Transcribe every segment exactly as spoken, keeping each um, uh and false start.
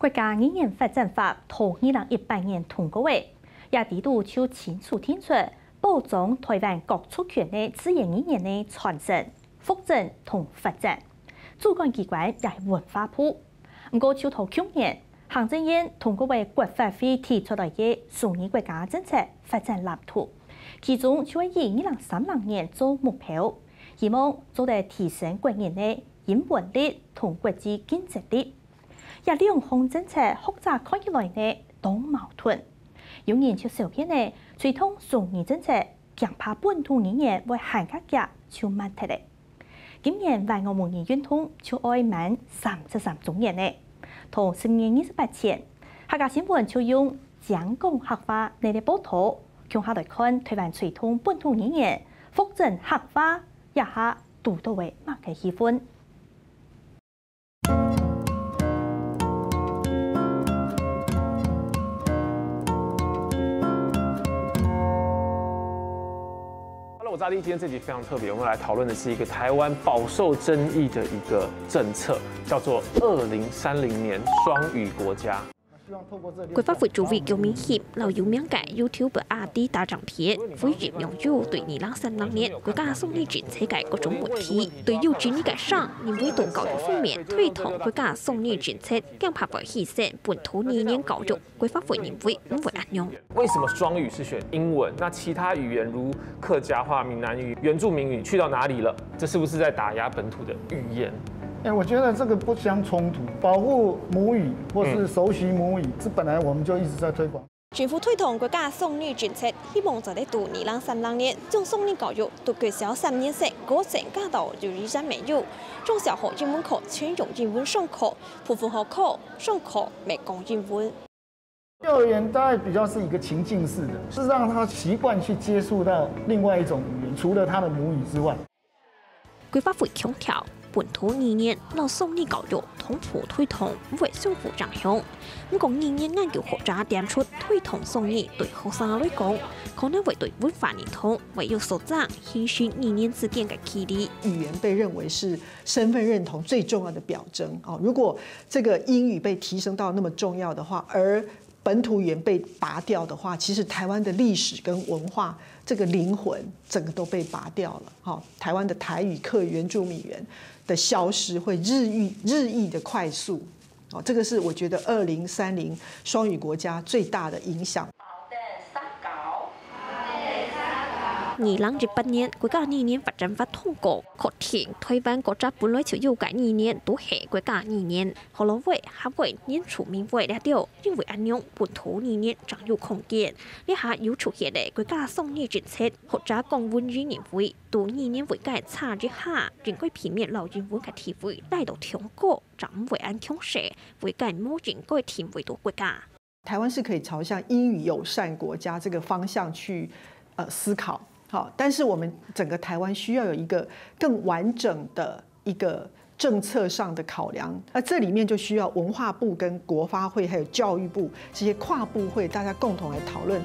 國家語言發展法在二零一八年通過个，這裡肚就清楚定出保障臺灣各族群个自然語言个傳承、復振同發展。主管機關也係文化部。毋過，就在舊年，行政院通過个國發會提出來个雙語國家政策發展藍圖，其中就係以二零三零年做目標，希望做得提升國人个英文力同國際競爭力。 這兩項政策學者看起來呢，當矛盾。有人就笑騙呢，推動雙語政策，驚怕本土語言會還較遽就慢忒了。今年YO母語運動就愛滿三十三週年了。在十月二十八前，客家新聞就用「精講客話」這類報導，共下來看臺灣推動本土語言、復振客話，這下堵著个麼个氣氛。 Hello，我是阿弟。今天这集非常特别，我们来讨论的是一个台湾饱受争议的一个政策，叫做二零三零年双语国家。國發會主委邱明協摎有名个YouTuber阿弟打成片，回應網友對二零三零年國家雙語政策个各種問題。對有爭議个聲，認為在教育方面推動國家雙語政策，驚怕會犧牲本土語言教育。 國發會認為毋會恁樣。為什麼雙語是選英文？那其他語言如客家話、閩南語、原住民語去到哪裡了？這是不是在打壓本土的語言？哎，我觉得这个不相冲突，保护母语或是熟悉母语，这本来我们就一直在推广。政府推動國家雙語政策，希望做得到二零三零年，將雙語教育對國小三年生過程加到幼稚園乜有，中小學英文課全用英文上課，部分學科上課乜講英文。 幼儿园大概比较是一个情境式的，是让他习惯去接触到另外一种语言，除了他的母语之外。國發會強調，本土語言摎雙語教育同步推動毋會相互影響。毋過語言研究學者點出，推動雙語對學生來講，可能會對文化認同會有所增，形成語言之間个距離。語言被認為是身份認同最重要的表徵哦。如果這個英語被提升到那麼重要的話，而本土語言被拔掉的話，其實台灣的歷史跟文化這個靈魂整個都被拔掉了。哈，台灣的台語、客語、原住民語言的消失會日益日益的快速。哦，這個是我覺得二零三零雙語國家最大的影響。二零一八年國家語言發展法通過，確定台灣各隻本來就有个語言都係國家語言。 學老話、客話、原住民話這兜，因為恁樣本土語言正有空間。這下又出現了國家雙語政策，學者江文宇認為，在語言位个差異下，應該避免摎英文个地位拉到忒高，正毋會恁強勢，位个無應該定位到國家。 台灣是可以朝向英語友善國家這個方向去呃思考，好，但是我們整個台灣需要有一個更完整的一個政策上的考量，那這裡面就需要文化部跟國發會還有教育部這些跨部會大家共同來討論。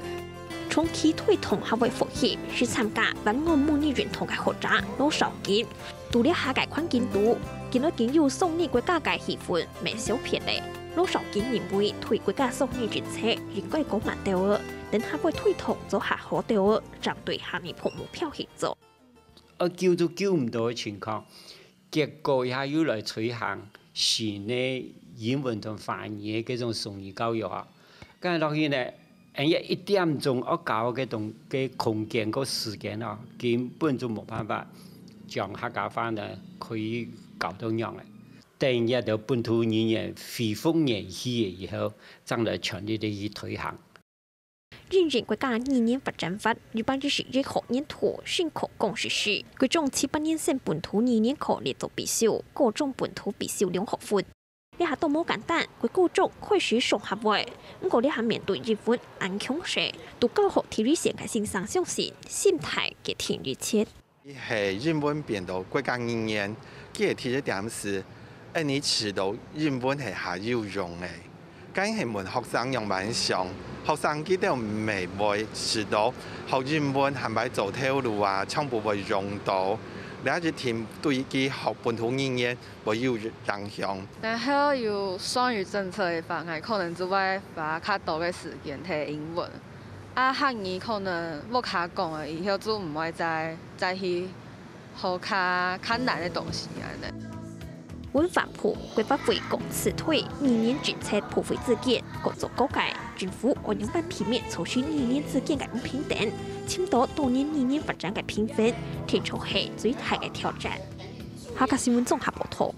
長期推動客話復興，係參加灣岸母語運動个學者羅紹金。在這下个環境肚，見到已經有雙語國家个氣氛，乜少變了。 羅紹金認為，對國家雙語政策應該講慢兜仔，等客話推動做較好兜仔，正對下一步目標去做。啊，救都救毋到个情況，結果這下又來推行新个英文同華語个這種雙語教育啊，該落去呢，恁樣一點鐘愛教个東个空間个時間啊，根本就無辦法將客家話呢可以教到仰仔。 等這兜本土語言恢復元氣以後，正來全力地去推行。因應國家語言發展法，一百一十一學年度新課綱實施，國中七八年生本土語言課列做必修，高中本土必修兩學分。這下都無簡單，國高中開始上客話，毋過這下面對英文恁強勢，在教學第一線个先生相信，心態決定一切。 係英文變到國家語言，佢个第一點係，恁樣知道英文係較有用个。該係問學生仰般想，學生佢兜毋會知道學英文還會做頭路啊，全部會用到。這一定對佢學本土語言會有影響。然後有雙語政策个話，𠊎可能就會花較多个時間學英文。啊，客語可能屋下講个，以後就毋會再再去學較較難个東西恁呢。文化部規劃會講辭退語言政策部分意見，各種各界政府愛仰般避免造成語言之間个毋平等，尋到多元語言發展个平衡，聽說係最大个挑戰。客家新聞綜合報道。